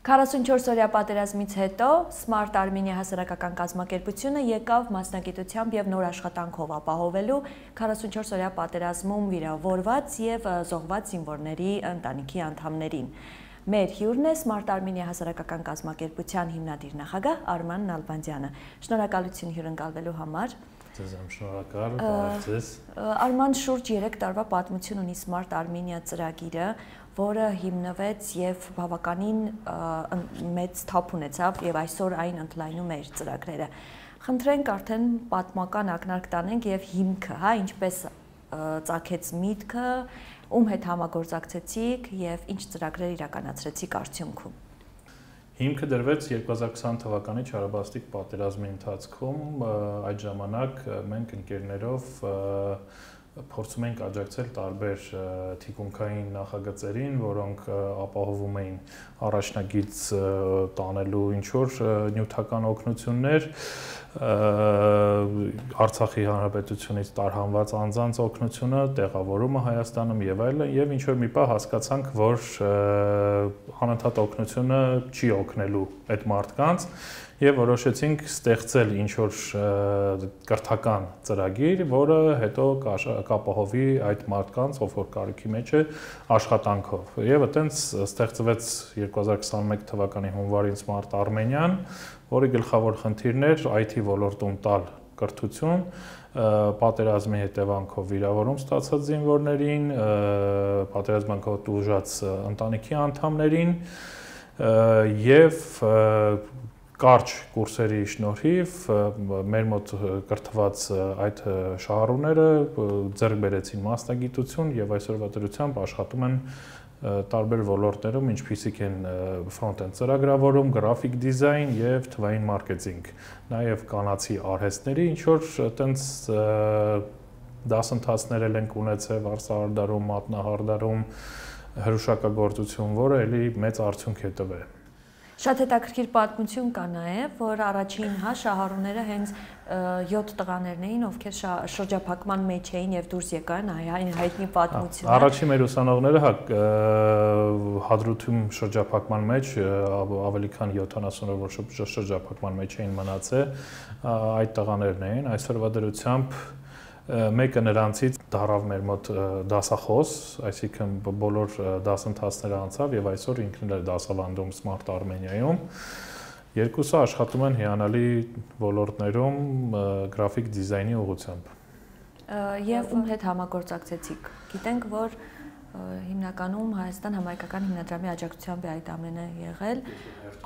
44-օրյա պատերազմից հետո Smart Armenia հասարակական կազմակերպությունը եկավ մասնագիտությամբ եւ նոր աշխատանքով ապահովելու 44-օրյա պատերազմում վիրավորված եւ զոհված զինվորների ընտանիքի անդամներին։ Մեր հյուրն է Smart Armenia հասարակական կազմակերպության հիմնադիր նախագահ Արման Նալբանդյանը։ Շնորհակալություն հյուրընկալվելու համար։ Ձեզ շնորհակալ, բարև ձեզ։ Արման, շուրջ 3 տարվա պատմություն ունի Smart Armenia ծրագիրը, որը հիմնվեց եւ բավականին մեծ թափ ունեցավ եւ այսօր այն ընդլայնում է իր ծրագրերը։ Խնդրենք արդեն պատմական ակնարկ տանենք եւ հիմքը, հա, ինչպես ծագեց միտքը, ում հետ համագործակցեցիք եւ ինչ ծրագրեր իրականացրեցիք արդյունքում։ Հիմքը դրվեց 2020 թվականի չարաբաստիկ պատերազմի ընթացքում, այդ ժամանակ մենք ընկերներով փորձում ենք աջակցել տարբեր թիկունքային նախագծերին, որոնք ապահովում էին առաջնագիծ տանելու ինչ-որ նյութական օգնություններ, Արցախի Հանրապետությունից տարհանված անձանց օգնությունը, տեղավորումը Հայաստանում եւ այլն, եւ ինչ-որ մի պահ հասկացանք, որ անընդհատ օգնությունը չի օգնելու այդ մարդկանց եւ որոշեցինք ստեղծել ինչ-որ կրթական ծրագիր, որը հետո կապահովի այդ մարդկանց, ով որ կարիքի մեջ է, աշխատանքով։ Եվ այտենց ստեղծվեց 2021 թվականի հունվարին Smart Armenian, որի գլխավոր խնդիրն էր IT ոլորտում տալ կրթություն, պատերազմի հետևանքով վիրավորում ստացած զինվորներին, պատերազմական տուժած ընտանիքի անդամներին եւ կարճ կուրսերի շնորհիվ մեր մոտ կրթված այդ շահառուները ձեռք բերեցին մասնագիտություն եւ այսօրվա դրությամբ աշխատում են տարբեր ոլորտներում, ինչպիսիք են ֆրոնտ-էնդ ծրագրավորում, գրաֆիկ դիզայն եւ թվային մարքեթինգ, նաեւ կանացի արհեստների ինչ որ այտենց դասընթացներ ենք ունեցել վարսահարդարում, մատնահարդարում, հրուշակագործություն, որը էլի մեծ արդյունք է տվել։ Շատ հետաքրքիր պատմություն կա նաև, որ առաջին շահառուները հենց 7 տղաներն էին, ովքեր շրջափակման մեջ էին եւ դուրս եկան, այն հայտնի պատմությունը։ Առաջին մեր ուսանողները Հադրութում շրջափակման մեջ ավելի քան 70 օր որ շրջափակման մեջ էին մնացել, այդ տղաներն էին, այսօրվա դրությամբ մեկը նրանցից դարավ մեր մոտ դասախոս, այսինքն բոլոր դասընթացները անցավ եւ այսօր ինքն էլ է դասավանդում Smart Armenia-ում։ Երկուսը աշխատում են հիանալի ոլորտներում գրաֆիկ դիզայնի ուղղությամբ։ Եվ ում հետ համագործակցեցիք։ Գիտենք, որ հիմնականում Հայաստան համայնքական հիմնադրամի աջակցությամբ է այդ ամենը եղել։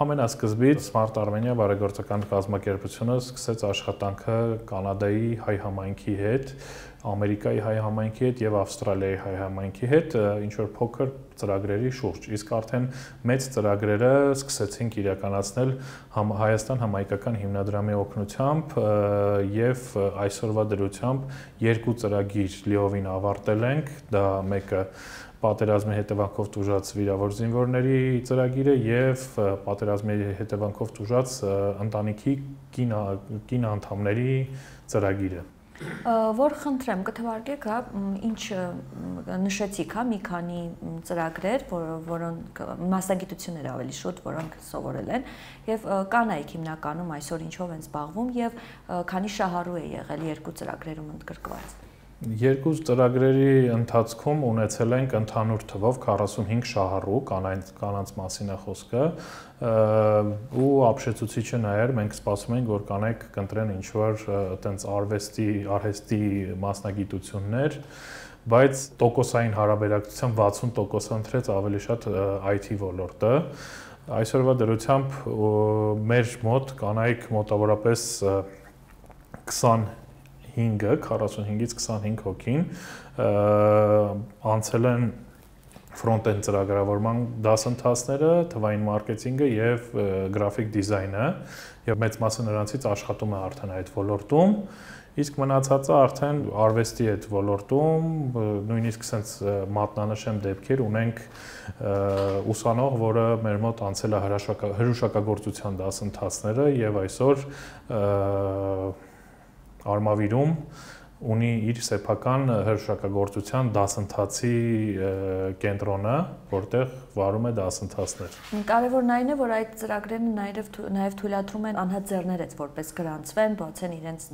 Ամենասկզբից Smart Armenia բարեգործական կազմակերպությունը սկսեց աշխատանքը Կանադայի հայ համայնքի հետ, Ամերիկայի հայ համայնքի հետ եւ Ավստրալիայի հայ համայնքի հետ ինչ որ փոքր ծրագրերի շուրջ։ Իսկ արդեն մեծ ծրագրերը սկսեցինք իրականացնել Հայաստան համայնքական հիմնադրամի օգնությամբ եւ այսօրվա դրությամբ 2 ծրագիր լիովին ավարտել ենք, դա մեկը պատերազմի հետևանքով տուժած վիրավոր զինվորների ծրագիրը եւ պատերազմի հետևանքով տուժած ընտանիքի կին անդամների ծրագիրը։ Որ խնդրեմ, կթվարկեք, հա, ինչ նշեցիք, հա, մի քանի ծրագրեր, որոնք մասնագիտություններ ավելի շուտ, որոնք սովորել են, եւ կանայք հիմնականում այսօր ինչով են զբաղվում եւ քանի շահառու է եղել 2 ծրագրերում ընդգրկված։ 2 ծրագրերի ընթացքում ունեցել ենք ընդհանուր թվով 45 շահառու, կանանց մասին է խոսքը, ու ապշեցուցիչը նա էր, մենք սպասում ենք, որ կանայք կընտրեն ինչ-որ այտենց արհեստի մասնագիտություններ, բայց տոկոսային հարաբերակցությամբ 60% ընտրեց ավելի շատ IT ոլորտը։ Այսօրվա դրությամբ մեր մոտ կանայք մոտավորապես 45-ից 25 հոգին անցել են ֆրոնտ-էնդ ծրագրավորման դասընթացները, թվային մարքեթինգը եւ գրաֆիկ դիզայնը, եւ մեծ մասը նրանցից աշխատում է արդեն այդ ոլորտում, իսկ մնացածը արդեն արվեստի այդ ոլորտում, նույնիսկ sense մատնանշեմ դեպքեր ունենք ուսանող, որը մեր մոտ անցել է հրուշակագործության դասընթացները եւ այսօր Արմավիրում ունի իր սեփական հրաշքագործության դասընթացի կենտրոնը, որտեղ վարում է դասընթացներ։ Կարևորն այն է, որ այդ ծրագրերը նաև թույլատրում են անհատ ձեռներեց որպես գրանցվեն, բացեն իրենց,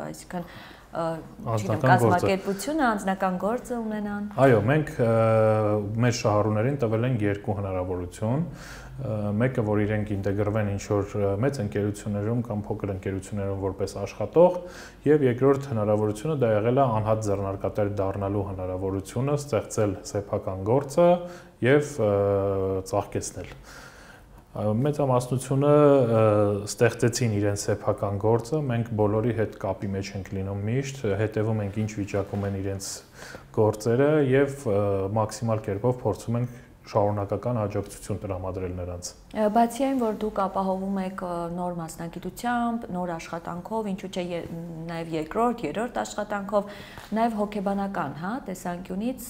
այսինքն կազմակերպությունը, անձնական գործը ունենան։ Այո, մենք մեր շահառուներին տվել ենք երկու հնարավորություն։ Մեկը, որ իրենք ինտեգրվեն ինչ-որ մեծ ընկերություններում կամ փոքր ընկերություններում որպես աշխատող, եւ երկրորդ հնարավորությունը դա եղել է անհատ ձեռնարկատեր դառնալու հնարավորությունը, ստեղծել սեփական գործը եւ ծաղկեցնել։ Մեծամասնությունը ստեղծեցին իրենց սեփական գործը, մենք բոլորի հետ կապի մեջ ենք լինում միշտ, հետևում ենք ինչ վիճակում են իրենց գործերը եւ մաքսիմալ կերպով փորձում ենք շարունակական աջակցություն տրամադրել նրանց։ Բացի այն, որ դուք ապահովում եք նոր մասնագիտությամբ, նոր աշխատանքով, ինչու՞ չէ նաև երկրորդ, երրորդ աշխատանքով, նաև հոգեբանական, հա, տեսանկյունից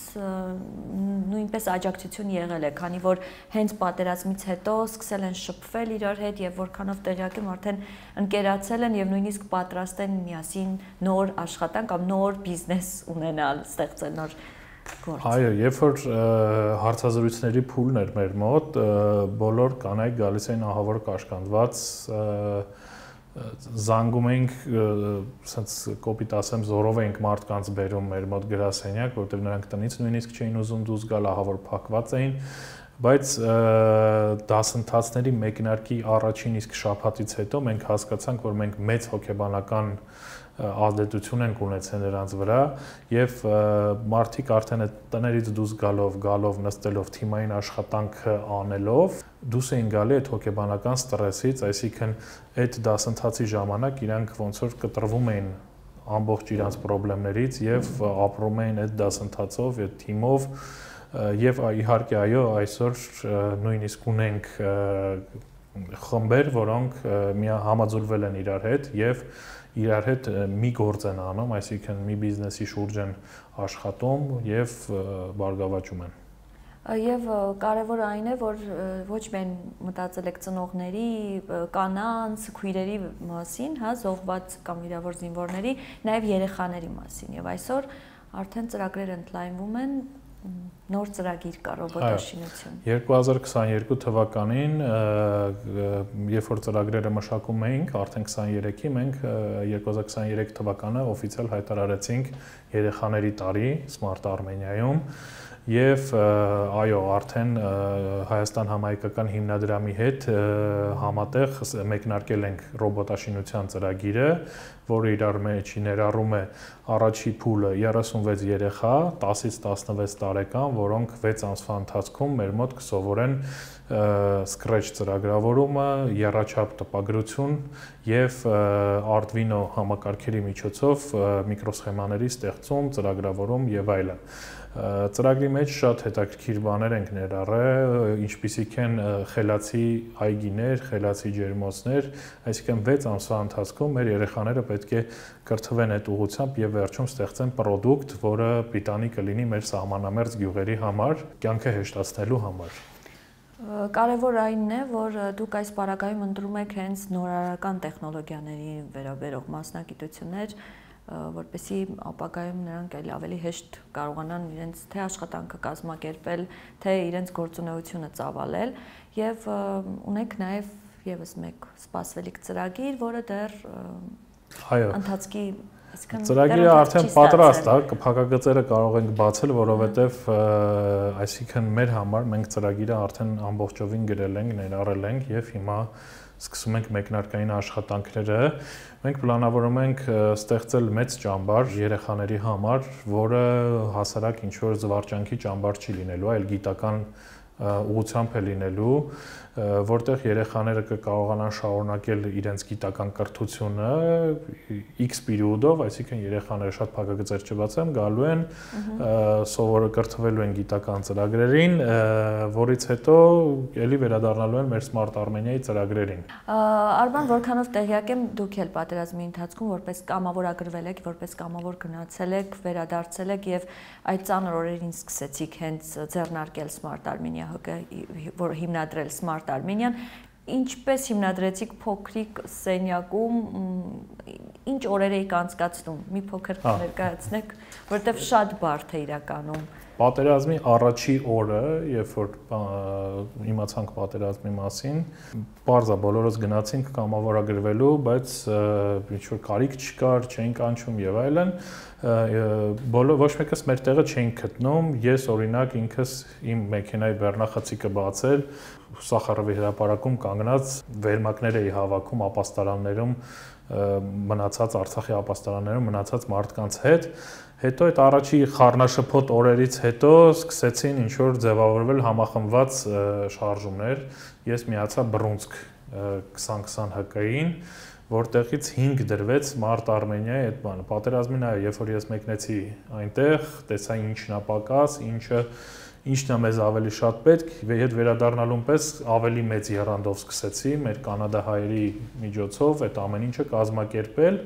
նույնպես աջակցություն եղել է, քանի որ հենց պատերազմից հետո սկսել են շփվել իրար հետ եւ որքանով տեղյակ եմ արդեն ընկերացել են եւ նույնիսկ պատրաստ են միասին նոր աշխատանք կամ նոր բիզնես ունենալ, ստեղծել նոր գործ։ Այո, երբ որ հարցազրույցների փուլն էր մեր մոտ, բոլոր կանայք գալիս էին ահավոր կաշկանդված, զանգում էինք, ասենց կոպիտ ասեմ, զորով էինք մարդկանց բերում մեր մոտ գրասենյակ, որտեղ նրանք տնից նույնիսկ չէին ուզում դուրս գալ, ահավոր փակված էին, բայց դասընթացների մեկնարկի առաջին իսկ շաբաթից հետո մենք հասկացանք, որ մենք մեծ հոգեբանական ազդեցություն ենք ունեցել նրանց վրա եւ մարդիկ արդեն այդ տներից դուրս գալով նստելով թիմային աշխատանքը անելով դուրս էին գալի այդ հոգեբանական ստրեսից, այսինքն այդ դասընթացի ժամանակ իրանք ոնց որ կտրվում էին ամբողջ իրանց խնդիրներից եւ ապրում էին այդ դասընթացով, այդ թիմով եւ իհարկե այո, այսօր նույնիսկ ունենք խմբեր, որոնք համաձուլվել են իրար հետ եւ իրար հետ մի գործ են անում, այսինքն մի բիզնեսի շուրջ են աշխատում եւ բարգավաճում են։ Եվ կարևորը այն է, որ ոչ միայն մտածել եք ծնողների, կանանց, քույրերի մասին, հա, զոհված կամ վիրավոր զինվորների, նաև երեխաների մասին։ Եվ այսօր արդեն ծրագրերը ընդլայնվում են, նոր ծրագիր կա ռոբոտաշինություն։ 2022 թվականին, երբ որ ծրագրերը մշակում էինք, արդեն 23-ի մենք 2023 թվականը օֆիցիալ հայտարարեցինք երեխաների տարի Smart Armenia-ում եւ այո, արդեն Հայաստան համահայկական հիմնադրամի հետ համատեղ մեկնարկել ենք ռոբոտաշինության ծրագիրը, որը իրար մեջ ներառում է առաջի փուլը 36 երեխա 10-ից 16 տարեկան, որոնք 6 ամսվա ընթացքում մեր մոտ կսովորեն Scratch ծրագրավորումը, եռաչափ տպագրություն եւ Arduino համակարգերի միջոցով միկրոսխեմաների ստեղծում, ծրագրավորում եւ այլն։ Ծրագրի մեջ շատ հետաքրքիր բաներ ենք ներառել, ինչպիսիք են խելացի այգիներ, խելացի ջերմոցներ, այսինքն 6 ամսվա ընթացքում մեր երեխաները պետք է կրթվեն այդ ուղղությամբ եւ վերջում ստեղծեն product, որը պիտանի կլինի մեր սահմանամերձ գյուղերի համար, կյանքը հեշտացնելու համար։ Կարևոր այնն է, որ դուք այս պարագայում ընտրում եք հենց նորարարական տեխնոլոգիաների վերաբերող մասնագիտություններ, որպեսզի ապագայում նրանք ավելի հեշտ կարողանան իրենց թե աշխատանքը կազմակերպել, թե իրենց գործունեությունը ծավալել եւ ունենք նաեւ եւս մեկ սպասվելիք ծրագիր, որը դեռ ընթացքի ծրագիրը արդեն պատրաստ է, փակագծերը կարող ենք բացել, որովհետեւ այսինքն մեր համար մենք ծրագիրը արդեն ամբողջովին գրել ենք, ներառել ենք եւ հիմա սկսում ենք մեկնարկային աշխատանքները։ Մենք պլանավորում ենք ստեղծել մեծ ճամբար երեխաների համար, որը հասարակ ինչ-որ զվարճանքի ճամբար չի լինելու, այլ գիտական ուղղությամբ է լինելու, որտեղ երեխաները կկարողանան շարունակել իրենց գիտական կրթությունը X պերիոդով, այսինքն երեխաները շատ փակագծեր չբացեմ, գալու են, սովորը կրթվելու են գիտական ծրագրերին, որից հետո ելի վերադառնալու են մեր Smart Armenia-ի ծրագրերին։ Արման, որքանով տեղյակ եմ, դուք էլ պատերազմի ընթացքում որպես կամավորագրվել եք, որպես կամավոր գնացել եք, վերադարձել եք եւ այդ ծանր օրերին սկսեցիք հենց ձեռնարկել Smart Armenia, որ հիմնադրել Smart Armenia-ն, ինչպես հիմնադրեցիք փոքրիկ սենյակում, ինչ օրեր եք անցկացնում, մի փոքր ներկայացնեք, որովհետև շատ բարդ է իրականում։ Պատերազմի առաջի օրը, երբ որ իմացանք պատերազմի մասին, բարձա բոլորս գնացինք կամավորագրվելու, բայց ինչ որ կարիք չկար, չէինք անցում եւ այլն, ոչ մեկս մեր տեղը չէինք գտնում։ Ես օրինակ ինքս իմ մեքենայի բեռնախցիկը բացել, Սախարովի հրապարակում կանգնած վերմակներ էի հավաքում ապաստարաններում մնացած Արցախի ապաստարաններում մնացած մարդկանց հետ։ Հետո այդ առաջի խառնաշփոթ օրերից հետո սկսեցին ինչ որ ձևավորվել համախմբված շարժումներ։ Ես միացա Բռունցք 2020 ՀԿ-ին, որտեղից 5 դրվեց մարտ Արմենիայի այդ բանը։ Պատերազմին այո, երբ որ ես մեկնեցի այնտեղ, տեսա ինչն է պակաս, ինչն է մեզ ավելի շատ պետք, հետ վերադառնալուն պես ավելի մեծ եռանդով սկսեցի մեր կանադահայերի միջոցով այդ ամեն ինչը կազմակերպել։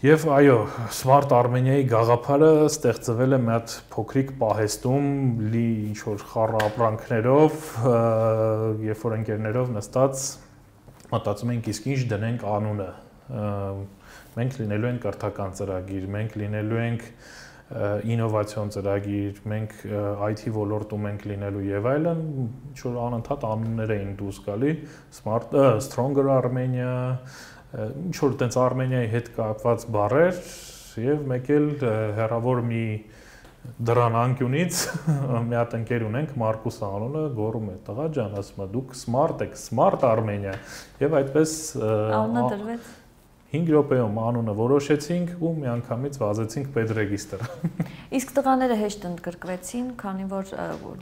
Եվ այո, Smart Armenia-ի գաղափարը ստեղծվել է մի հատ փոքրիկ պահեստում լի ինչ որ խառը ապրանքներով, երբ որ ընկերներով նստած մտածում ենք իսկ ինչ դնենք անունը։ Մենք լինելու ենք կրթական ծրագիր, մենք լինելու ենք ինովացիոն ծրագիր, մենք IT ոլորտում ենք լինելու եւ այլն, ինչ որ անընդհատ անուններ էին դուրս գալի, Stronger Armenia, ինչ որ տենց Արմենիայի հետ կապված բառեր եւ մեկ էլ հերավոր մի դրան անկյունից մի հատ ընկեր ունենք Մարկուս անունը, գոռում է տղա ջան, ասում է դուք smart եք, Smart Armenia եւ այդպես անունը դրվեց 5 րոպեում անունը որոշեցինք ու միանգամից վազեցինք պետրեգիստր։ Իսկ տղաները հեշտ ընդգրկվեցին, քանի որ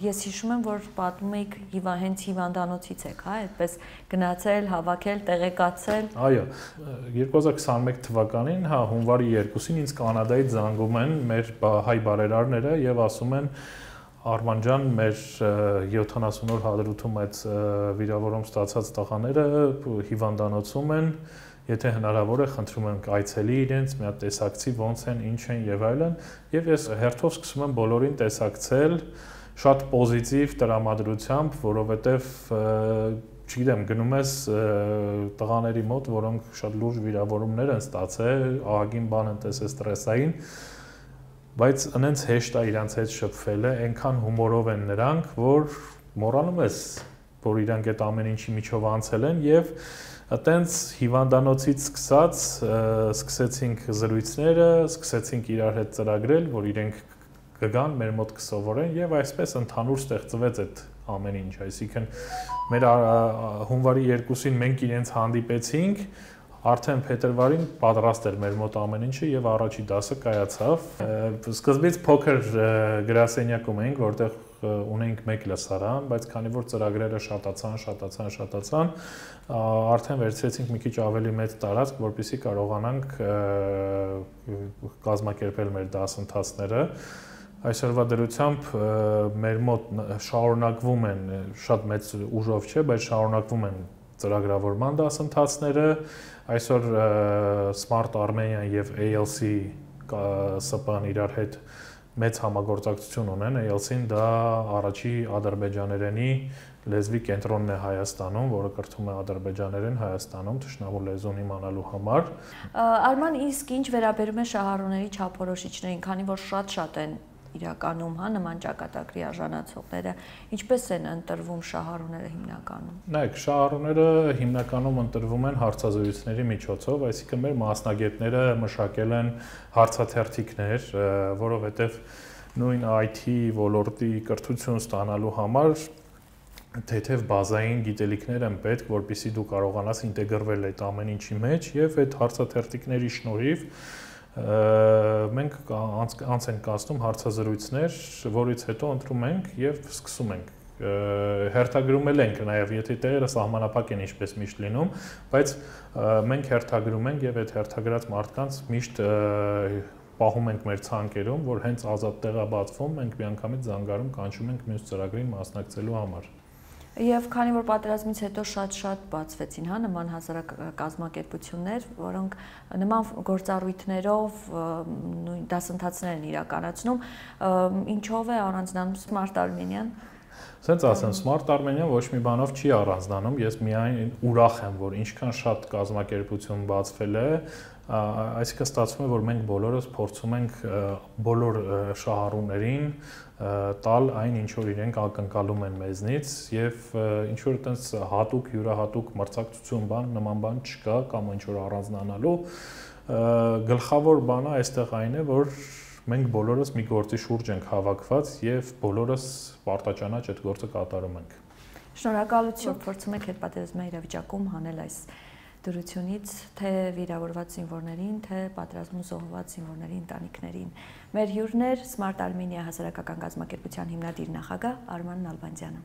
ես հիշում եմ, որ պատմում եք հենց հիվանդանոցից եք, հա, այդպես գնացել, հավաքել, տեղեկացել։ Այո, 2021 թվականին, հա, հունվարի 2-ին ինձ Կանադայից զանգում են մեր հայ բարերարները եւ ասում են Արման ջան, մեր 70 օր հադրութում այդ վիրավորում ստացած տղաները հիվանդանոցում են, եթե հնարավոր է, խնդրում եմ այցելի իրենց, մի հատ տեսակցի ոնց են, ինչ են եւ այլն, եւ ես հերթով սկսում եմ բոլորին տեսակցել շատ պոզիտիվ տրամադրությամբ, որովհետեւ չգիտեմ, գնում ես տղաների մոտ, որոնք շատ լուրջ վիրավորումներ են ստացել, ահագին բան են տեսել ստրեսային, բայց այնց հեշտ է իրանց հետ շփվելը, այնքան հումորով են նրանք, որ մոռանում ես, որ իրանք այդ ամեն ինչի միջով անցել են եւ այտենց հիվանդանոցից սկսած սկսեցինք զրույցները, սկսեցինք իրար հետ ծրագրել, որ իրենք կգան, մեր մոտ կսովորեն եւ այսպես ընդհանուր ստեղծվեց այդ ամեն ինչ, այսինքն մեր հունվարի 2-ին մենք իրենց հանդիպեցինք, արդեն փետրվարին պատրաստ էր մեր մոտ ամեն ինչը եւ առաջի դասը կայացավ։ Սկզբից փոքր գրասենյակում էինք, որտեղ ունենք մեկ լսարան, բայց քանի որ ծրագրերը շատացան, արդեն վերցրեցինք մի քիչ ավելի մեծ տարածք, որպեսզի կարողանանք կազմակերպել մեր դասընթացները։ Այսօրվա դրությամբ մեր մոտ շարունակվում են, շատ մեծ ուժով չէ, բայց շարունակվում են ծրագրավորման դասընթացները։ Այսօր Smart Armenia եւ ALC ՍՊ-ն իրար հետ մեծ համագործակցություն ունեն, ALC-ն դա առաջի ադրբեջաներենի լեզվի կենտրոնն է Հայաստանում, որը կրթում է ադրբեջաներեն Հայաստանում թշնամու լեզուն իմանալու համար։ Արման, իսկ ինչ վերաբերում է շահառուների չափորոշիչներին, քանի որ շատ են իրականում, հա, նման ճակատագրի արժանացողները, ինչպես են ընտրվում շահառուները հիմնականում։ Նայեք, շահառուները հիմնականում ընտրվում են հարցազրույցների միջոցով, այսինքն մեր մասնագետները մշակել են հարցաթերթիկներ, որովհետև նույն IT ոլորտի կրթություն ստանալու համար թեթև բազային գիտելիքներ են պետք, որպեսզի դու կարողանաս ինտեգրվել այդ ամեն ինչի մեջ եւ այդ հարցաթերթիկների շնորհիվ մենք անց ենք կացնում հարցազրույցներ, որից հետո ընտրում ենք եւ սկսում ենք հերթագրում ենք նաեւ, եթե տեղերը սահմանափակ են ինչպես միշտ լինում, բայց մենք հերթագրում ենք եւ այդ հերթագրած մարդկանց միշտ պահում ենք մեր ցանկերում, որ հենց ազատ տեղ է բացվում, մենք միանգամից զանգարում կանչում ենք մյուս ծրագրին մասնակցելու համար։ Եվ քանի որ պատերազմից հետո շատ բացվեցին, հա, նման հասարակ կազմակերպություններ, որոնք նման գործառույթներով նույն դասընթացներ են իրականացնում, ինչով է առանձնանում Smart Armenia-ն։ Սենց ասեմ, Smart Armenia ոչ մի բանով չի առանձնանում, ես միայն ուրախ եմ, որ ինչքան շատ կազմակերպություն բացվել է, այսինքն ստացվում է, որ մենք բոլորս փորձում ենք բոլոր շահառուներին տալ այն, ինչ որ իրենք ակնկալում են մեզնից եւ ինչ որ այտենց հատուկ յուրահատուկ մրցակցություն նման բան չկա կամ ինչ որ առանձնանալու գլխավոր բանը այստեղ այն է, որ մենք բոլորս մի գործի շուրջ ենք հավաքված եւ բոլորս պարտաճանաչ այդ գործը կատարում ենք։ Շնորհակալություն, փորձում եք հետպատերազմային իրավիճակում հանել այս դրությունից թե վիրավորված զինվորներին, թե պատերազմում զոհված զինվորների ընտանիքներին։ Մեր հյուրն էր Smart Armenia հասարակական կազմակերպության հիմնադիր նախագահ Արման Նալբանդյանը։